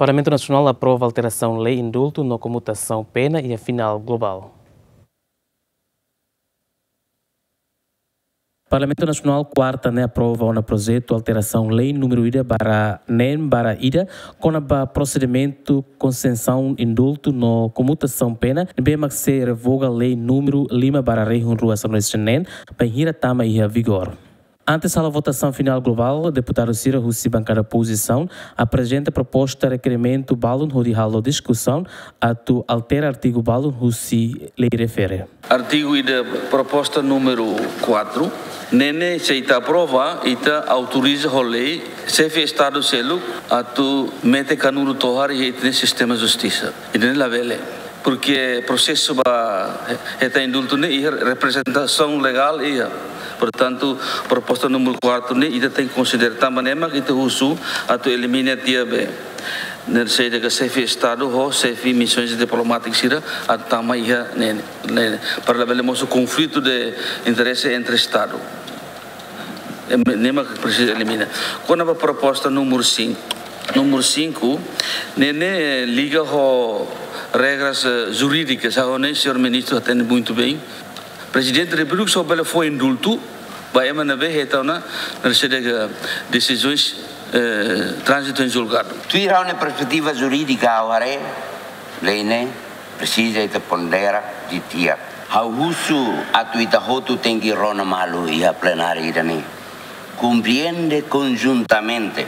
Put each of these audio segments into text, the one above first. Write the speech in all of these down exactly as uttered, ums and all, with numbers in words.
Parlamentu Nasionál aprova alterasaun lei indultu no komutasaun pena iha final globál. Parlamentu Nasionál kuarta ne'e aprova ona projetu alterasaun lei númeru ida barra neen barra ida, kona-ba prosedimentu konsesaun indultu no komutasaun pena, ne'ebé mak sei revoga lei númeru lima barra rihun rua sanulu-resin-neen, bainhira tama iha vigór. Antes halo votasaun final globál, deputadu sira husi bankada opozisaun aprezenta proposta rekerimentu balun hodi halo diskusaun atu altera artigu balun husi lei refere. Artigu ida proposta númeru quatro, ne'e ne'e se ita aprova, ita autoriza ho lei xefe Estadu seluk atu mete kanuru tohar iha ita-nia sistema justisa. Ida-ne'e labele. Porque prosesu ba hetan indultu ne'e iha reprezentasaun legál iha. Portantu, proposta númeru quatro ne'e ita tenke konsidera tanba ne'e mak ita husu atu elimina tiha be. Ne'e sei dehan xefe Estadu ho xefe misoens diplomátiku sira atu tama iha ne'e, ne'e, para labele mosu konflitu de interese entre Estadu. Em, ne'e mak presiza elimina. Kona-ba proposta númeru cinco. Númeru cinco, ne'e ne'e, eh, liga ho regras, eh, jurídikas, ha'u hanoin señór ministru hatene muito bem. Prezidente Repúblika só bele fó indultu ba ema ne'ebé hetan ona, ne'e sei dehan, desizaun, eh, tránzitu em julgadu. Tuir ha'u-nia perspetiva jurídika ha'u haree, lei ne'e presiza ita pondera didi'ak. Ha'u husu atu ita hotu tenke rona malu iha plenária ida-ne'e. Komprende konjuntamente.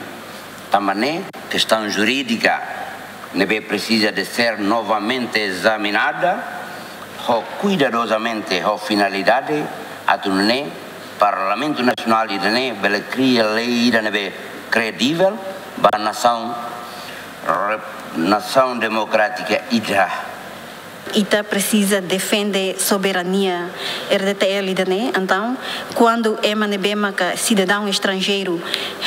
Tanba ne'e kestaun jurídika ne'ebé presiza de ser novamente ezaminada ho kuidadozamente ho finalidade atu nune'e Parlamentu Nasionál ida-ne'e bele kria lei ida ne'ebé kredivel ba nasaun rep-, nasaun demokrátika ida. Ita presiza defende soberania R D T L ida-ne'e, entaun, kuandu ema ne'ebé maka sidadaun estranjeiru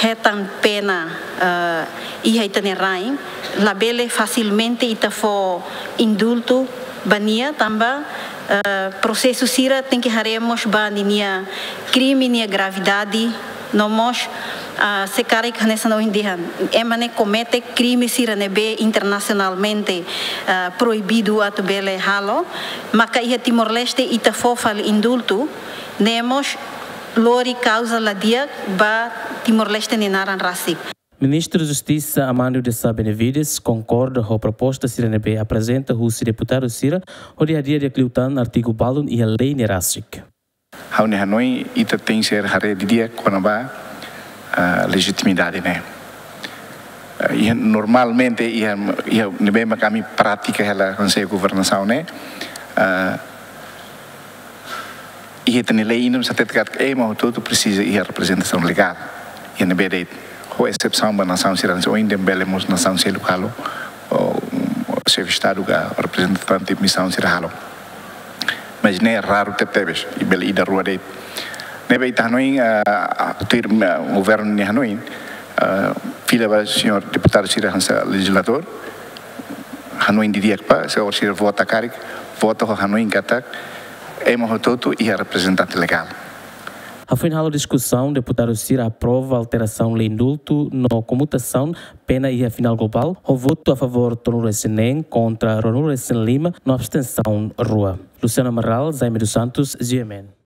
hetan pena, eh, iha ita-nia rain, labele fasilmente ita fó indultu ba nia, tanba, eh, prosesu sira tenke haree mós ba ninia krime nia gravidade, no mós, ah, se karik hanesan ohin dehan, ema ne'e komete krime sira ne'ebé internasionalmente, ah, proibidu atu bele halo, maka iha Timor-Leste ita fó fali indultu, ne'e mós lori kauza la di'ak ba Timor-Leste nia naran rasik. Ministru Justisa Armando de Sá Benavides konkorda ho proposta sira ne'ebé aprezenta husi deputadu sira hodi hadi'a di'ak liután artigu balun iha lei ne'e rasik. Ha'u-nia hanoin ita tenke ser haree didi'ak kona-ba, ah, lejitimidade ne'e. Ah, iha normalmente iha, iha ne'ebé mak ami pratika hela Konsellu Governasaun ne'e, ah, iha ita-nia lei ida hatete katak ema hotu-hotu presiza iha reprezentasaun legál. Iha ne'ebé de'it, ho esepsaun ba nasaun sira hanesan ohin dehan bele mós nasaun seluk halo, ou, ou xefe Estadu ka reprezentante misaun sira halo. Mas ne'e raru tebetebes, i bele ida rua de'it. Ne'ebé ita hanoin, ah, ah, tuir, ah, governu nia hanoin, ah, fila ba señór deputadu sira hanesan lejizladór, hanoin didi'ak ba, se orsida vota karik, vota ho hanoin katak, ema hotu-hotu iha reprezentante legál. Hafoin halo diskusaun, deputadu sira aprova alterasaun lei indultu no komutasaun pena iha final globál, ho votu a favór tolunulu-resin-neen, kontra ruanulu-resin-lima, no abstensaun rua. Luciano Amaral, Jaime dos Santos, G M N.